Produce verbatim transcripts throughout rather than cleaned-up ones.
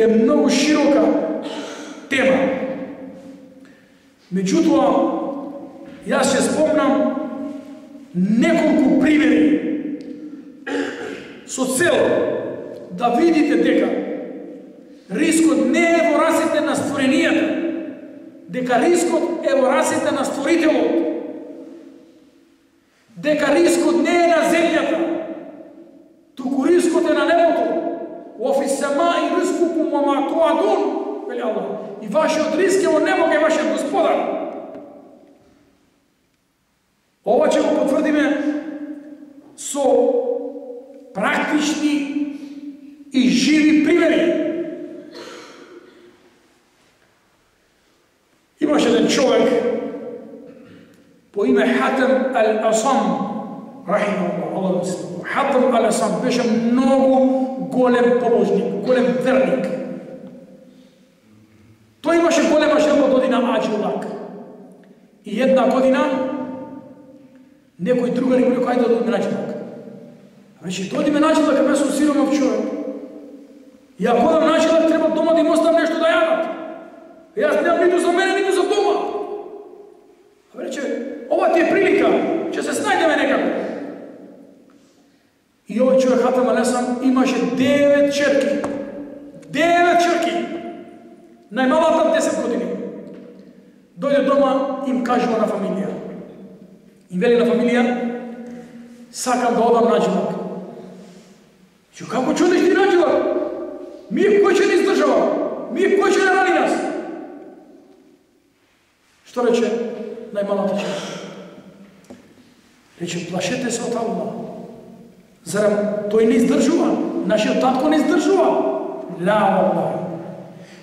е многу широка тема. Меѓутоа, јас ќе спомнам неколку примери со цел да видите дека рискот не е во рацете на створенијата, дека рискот е во рацете на Створителот, дека рискот не е на земјата, туку рискот е на небото. Офи сама и рискукум ама туадун, вели Аллах. И вашиот риск е во небо кај вашиот Господар. Ова ќе го потврдиме со практични и живи примери. Имаше еден човек по име Хатем ал-Асам, рахимахуллах, Аллах му се. Хатем ал-Асам беше многу голем побожник, голем верник. Тој имаше голема желба да оди на Аџилак. И една година некои другари му рекоа, ајде да одиме на Аџилак. Рече, да одиме на Аџилак, а ме сум сиромав човек. И ако одам на Аџилак, треба дома да им оставам нешто да јадат. Јас немам ниту за мене, ниту за дома. А рече, ова ти е прилика, ќе се снајдеме некако. И овој човек Хатем ал-Асам имаше девет черки. Девет черки. Најмалата десет години. Дојде дома, им кажува на фамилија. Им вели на фамилија, сакам да одам на Аџилак. Че, како чудиш ти на Аџилак? Ми кој ќе ни издржава? Ми кој ќе не рани нас? Што рече најмалата черка? Рече, плашете се од Аллах. Зарем тој не издржува? Нашиот татко не издржува? Ла Аллах.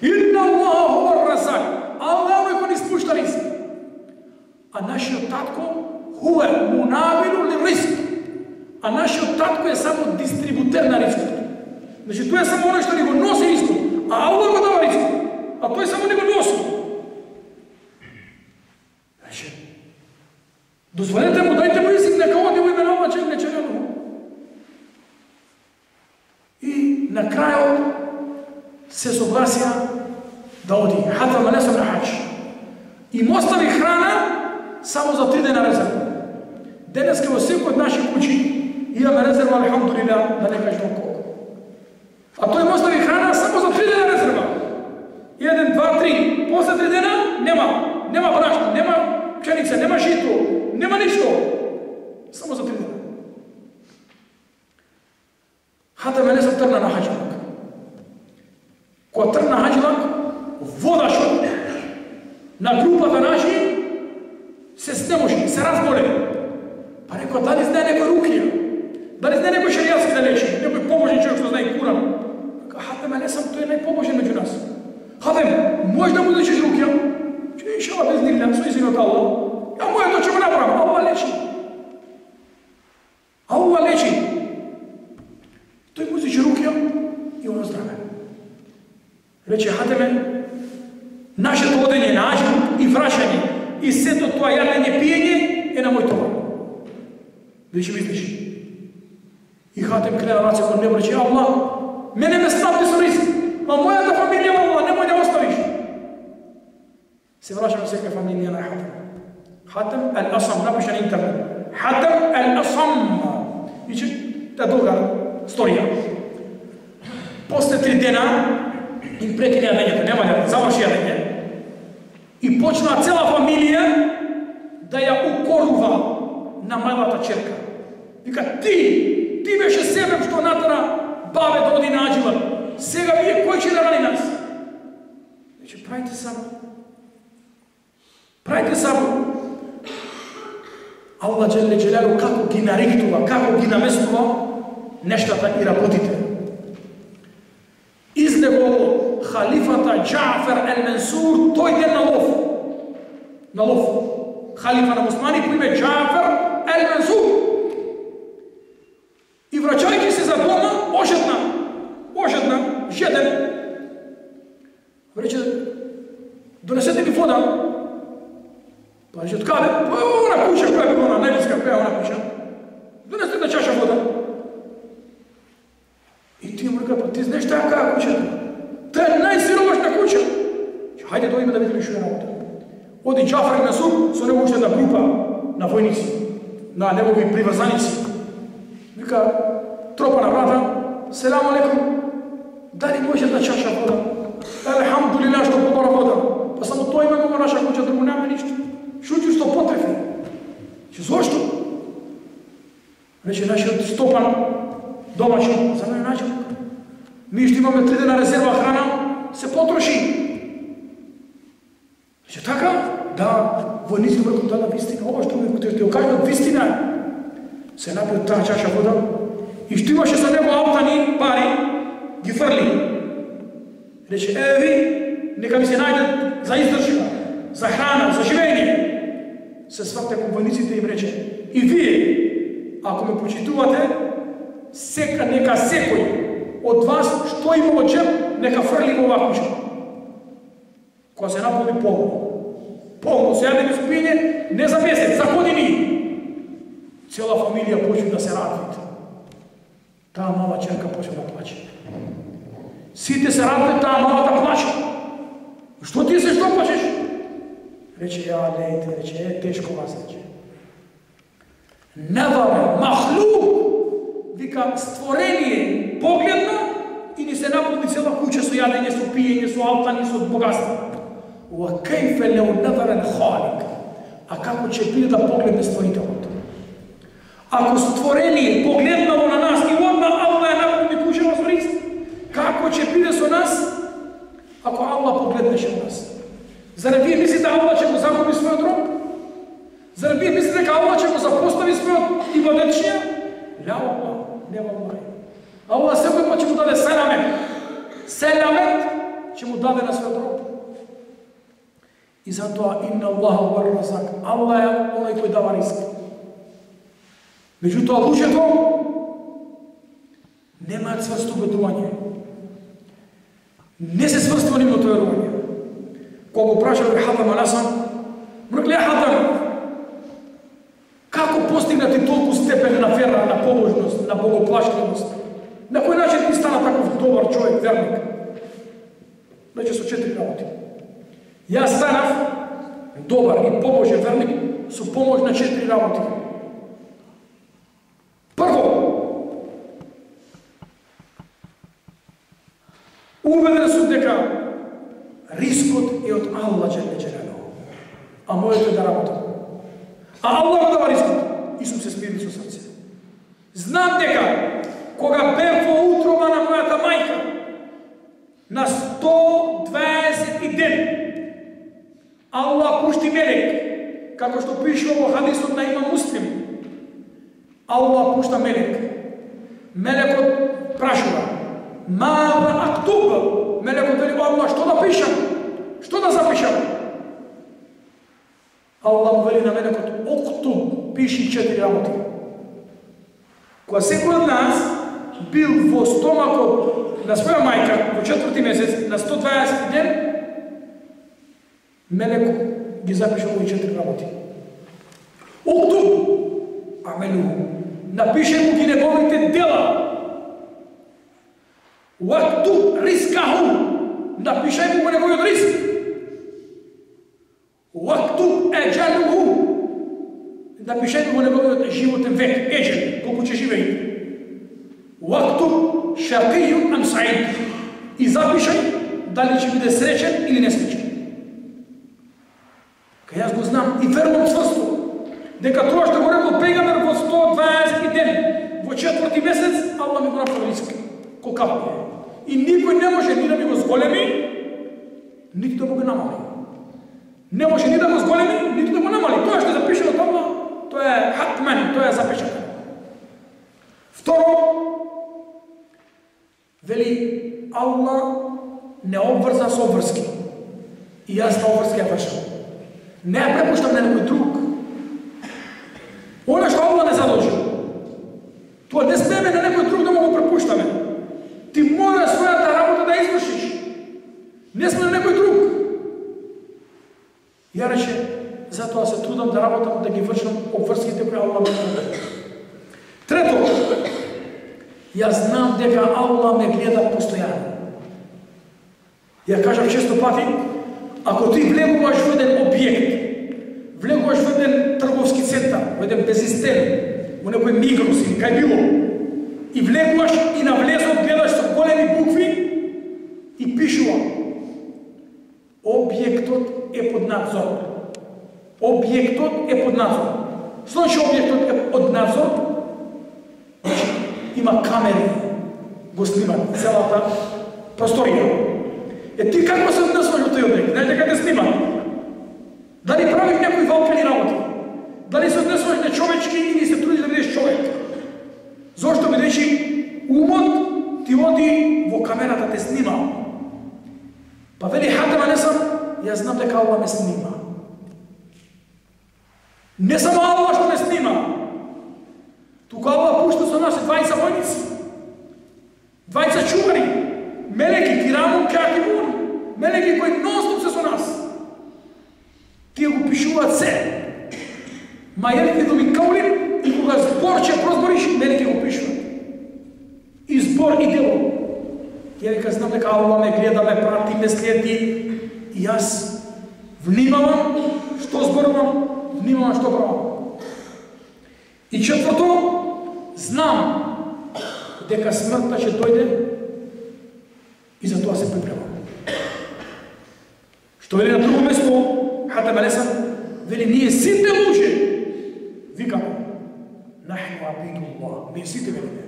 Инна Аллаха хуа разак. Аллах е кој ни спушта риск. А нашиот татко хуе мунавилу ли риск. А нашиот татко е само дистрибутер на рискот. Значи тој е само оној што ни го носи рискот, а Аллах го дава рискот. А тој само ни го носи. Значи, дозволете му, дајте му риск, нека оди во име на Аллах, не чекамо. И на крајот се согласија да оди. Хатем ал-Асам на хаџ. И му остави храна само за три дена резерва. Денеска во секој од наши куќи имаме резерва, алхамдулилlah, да не кажем колку. А тој му остави храна само за три дена резерва. Еден, два, три. После три дена нема. Нема брашно, нема пшеница, нема жито, нема ништо. Само за три дена. Хатем ал-Асам тргна на Аџилак. Кога тргна на Аџилак, водашот на групата наши се снемоши, се разболе. Па рекоа, дали знае некој рукија? Дали знае некој шеријатски да лечи? Некој побожен човек што знае Куран? Хатем ал-Асам, тој е најпобожен меѓу нас. Хатем, може да му лечиш рукија? Че иншалла без нилля, со изин од Аллах. Ја моето ќе го направам, Аллах лечи. Аллах лечи. Тој му лечи рукија и оно здраве. Рече Хатеме, нашето одење на Аџилак и врашање и сето тоа јадење пиење е на мој товар. Веќе мислиш. И Хатем крена раце кон небо, рече, Аллах, мене ме снабди со риск, а мојата фамилија, Аллах, немој да оставиш. Се врашаме секоја фамилија на Хатем. Хатем ал-Асам, напиша на интернет. Хатем ал-Асам. Иче, та долга сторија. После три дена им прекине јадењето, нема да заврши јадење. И почна цела фамилија да ја укорува на малата черка. Вика, ти, ти беше себеб што натера бабе да оди на Аџилак. Сега вие кој ќе да рани нас? Значи, правите само. Правите само. Аллах джеле джелалу како ги нариктува, како ги наместува нештата и работите. Излего халифата Џафер ел-Менсур тој ден на лов. На лов. Халифа на муслимани по име Џафер ел-Менсур. И враќајќи се за дома, ожедна, ожедна, жеден. Рече, донесете ми вода. Па рече, откаде? Па она куќа, која би она, најблиска, која она куќа. Донесете една чаша вода. И ти му река, па ти знаеш таа каја куќата? Тоа е најсиромашна куќа. Хајде дојдеме да видиме што е работа. Оди Џафар ибн Масуд со него уште една група на војници, на негови приврзаници. Вика, тропа на врата, селам алейкум, дали може една чаша вода? Алхамдулилlah што побара вода. Па само тој има во наша куќа, друго нема ништо. Шуќу што потрефи. Че зошто? Рече нашиот Стопан, домашен, за мене начелник. Ми што имаме три дена резерва храна, се потроши. Рече така? Да, војниците врком дадат вистина. Ова што ми ќе ја кажат вистина. Се напиот таа чаша вода и што имаше со него аутани, пари, ги фрли. Рече, е, ви, нека ми се најдат за издржка, за храна, за живење. Се сврте кон војниците и им рече, и вие, ако ме почитувате, сека, нека секој од вас што има во джеб, нека фрли во оваа куќа. Кога се наполни полно. Полно, се јаде без пиење, не за месец, за години. Цела фамилија почне да се радват. Таа мала черка почне да плаче. Сите се радват, таа малата плаче. Што ти се, што плачеш? Рече, ја, лејте, рече, е, тешко вас, рече. Неваме, махлук, вика, створение, погледна и ни се наполни цела куќа со јадење, со пиење, со алтани, со богатство. Ва кајфе леу неверен халик. А како ќе биде да погледне створителот? Ако створение погледнало на нас и одма Аллах е наполни куќа со рис, како ќе биде со нас, ако Аллах погледнеше на нас? Зарем вие мислите Аллах ќе го загуби својот роб? Зарем вие мислите дека Аллах ќе го запостави својот ибадетчија? Ля Аллах, не Аллах. Аллах секој пат ќе му даде селамет. Селамет ќе му даде на својот роб. И затоа инна Аллаха хуа разак. Аллах е оној кој дава риск. Меѓутоа луѓето немаат цврсто убедување. Не се сврстува нивното верување. Кога го прашале Хатам аль-Асам, рекле Хатам, како постигнати толку степен на вера, на побожност, на богоплашливост? На кој начин ти стана таков добар човек, верник? Рече со четири работи. Јас станав добар и побожен верник со помош на четири работи. Прво, убеден сум дека рискот е од Аллах Джеле Джелелуху, а моето е да работам. А Аллах дава рискот и сум се смирил со срце. Знам дека кога бев во утроба на мојата мајка на сто дваесет ден, Аллах пушти мелек, како што пише во хадисот на имам Муслим. Аллах пушта мелек. Мелекот прашува: "Маза актуб?" Мелекот вели: "Аллах, што да пишам? Што да запишам?" Аллах вели на мелекот: "Октуб, пиши четири работи." Кога секој од нас бил во стомакот на своја мајка во четврти месец на сто дваесет ден, мелек ги запиша овие четири работи. Октуб амелуху, напише му ги неговите дела. Уактуб рискаху, напишај му го неговиот риск. Уактуб еджалуху, напишај му го неговиот животен век, еджел, колку ќе живее. Уактуб шакијун ам саид, и запишај дали ќе биде среќен или несреќен. Кај јас го знам и верувам цврсто дека тоа што го рекол пегамбер во сто дваесет ден, во четврти месец, Аллах ми го направи риск. Колкаво е. И никој не може ни да ми го зголеми, нити да го намали. Не може ни да го зголеми, нити да го намали. Тоа што е запишено таму, тоа е хатмен, тоа е запишено. Второ, вели Аллах не обврза со обврски. И јас на обврски ја вршам. Не ја препуштам на некој друг. Оно што Аллах не задолжи, тоа не смеме на некој друг да му го препуштаме. Ти мора својата работа да извршиш. Не сме на некој друг. Ја рече, затоа се трудам да работам, да ги вршам обврските кои Аллах ме даде. Трето, јас знам дека Аллах ме гледа постојано. Ја кажав често пати, ако ти влегуваш во еден објект, влегуваш во еден трговски центар, во еден безистен, во некој Мигрос или кај било, и влегуваш и на влезот гледаш со големи букви и пишува: објектот е под надзор. Објектот е под надзор. Значи објектот е под надзор, значи има камери, го снимат целата просторија. Е ти како се однесуваш во тој објект? Знаеш дека те снимат? Дали правиш некои валкани работи? Дали се однесуваш нечовечки или се трудиш да бидеш човек? Зошто бидејќи умот ти оди во камерата, те снима. Па вели Хатем алейхиссалам, јас знам дека Аллах ме снима. Не само Аллах што ме снима, тука Аллах пушта со нас двајца војници, двајца чувари, мелеки, кирамун, катибун, мелеки кои нон-стоп се со нас. Тие го пишуваат се. Ма јелите думи каулин, и кога збор ќе прозбориш, мелеки го пишуваат. И збор и дело. Ја вика, знам дека Аллах ме гледа, ме прати, ме следи, и јас внимавам што зборувам, внимавам што правам. И четврто, знам дека смртта ќе дојде и за тоа се припремам. Што вели на друго место, Хатем алейхиссалам, вели ние сите луѓе викаме: нахну абидуллах, ние сите велиме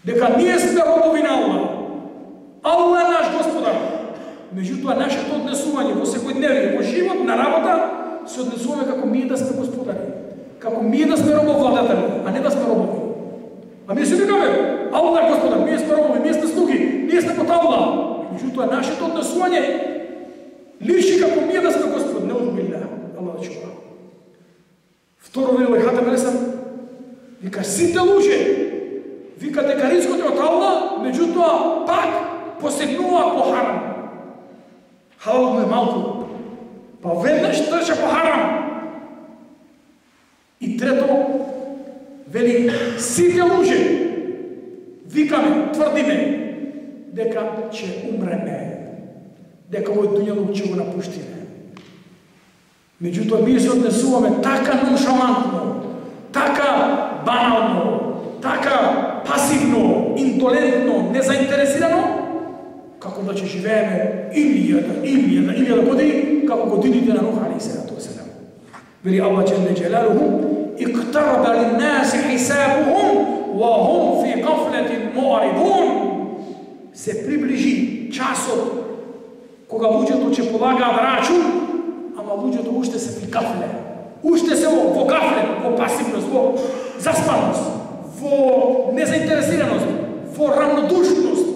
дека ние сме робови на Аллах. Аллах е наш Господар. Меѓутоа, нашето однесување во секојдневие, во живот, на работа, се однесуваме како ние да сме господари, како ние да сме робовладатели, а не да сме робови. А ние си викаме: Аллах е Господар, ние сме робови, ние сме слуги, ние сме под Аллах. Меѓутоа, нашето однесување личи како ние да сме Господ, не одбилля, Аллах да чува. Второ вели Хатем алейхиссалам, вика сите луѓе вика дека ризкот е од Аллах, меѓутоа пак посегнува по харам. Халал му е малку, па веднаш трча по харам. И трето вели сите луѓе викаме, тврдиме дека ќе умреме, дека овој дуњалук ќе го напуштиме. Меѓутоа, ние се однесуваме така ноншалантно, така банално, така пасивно, индолентно, незаинтересирано, како да ќе живееме илјада, илјада, илјада години, како годините на Нух алейхиссалату вассалам. Вели Аллах џелле џелалуху: иқтараба линнаси хисабухум ва хум фи гафлатин муаридун. Се приближи часот кога луѓето ќе полагаат рачун, ама луѓето уште се во гафле, уште се во, во гафле, во пасивност, во заспаност, во незаинтересираност, во равнодушност.